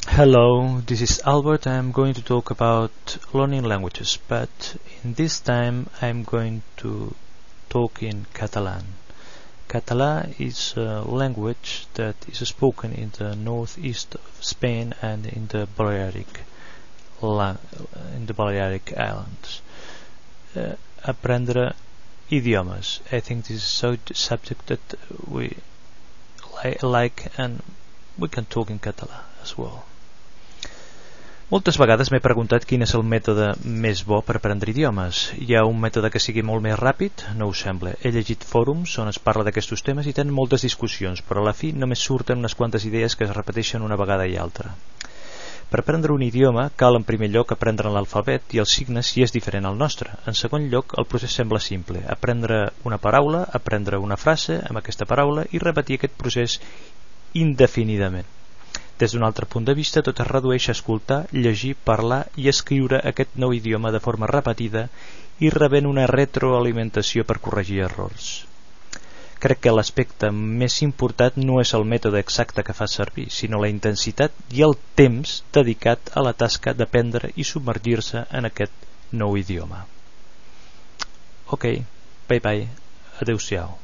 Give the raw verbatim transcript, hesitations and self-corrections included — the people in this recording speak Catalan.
Hello, this is Albert. I'm going to talk about learning languages, but in this time I'm going to talk in Catalan. Catalan is a language that is spoken in the northeast of Spain and in the Balearic in the Balearic Islands. Uh, aprendre idiomes. I think this is a subject that we li like and we can talk in Catalan as well. Moltes vegades m'he preguntat quin és el mètode més bo per aprendre idiomes. Hi ha un mètode que sigui molt més ràpid? No ho sembla. He llegit fòrums on es parla d'aquests temes i tenen moltes discussions, però a la fi només surten unes quantes idees que es repeteixen una vegada i altra. Per aprendre un idioma cal en primer lloc aprendre l'alfabet i els signes si és diferent al nostre. En segon lloc, el procés sembla simple. Aprendre una paraula, aprendre una frase amb aquesta paraula i repetir aquest procés indefinidament. Des d'un altre punt de vista, tot es redueix a escoltar, llegir, parlar i escriure aquest nou idioma de forma repetida i rebent una retroalimentació per corregir errors. Crec que l'aspecte més important no és el mètode exacte que fa servir, sinó la intensitat i el temps dedicat a la tasca d'aprendre i submergir-se en aquest nou idioma. Ok, bye bye, adeu-siau.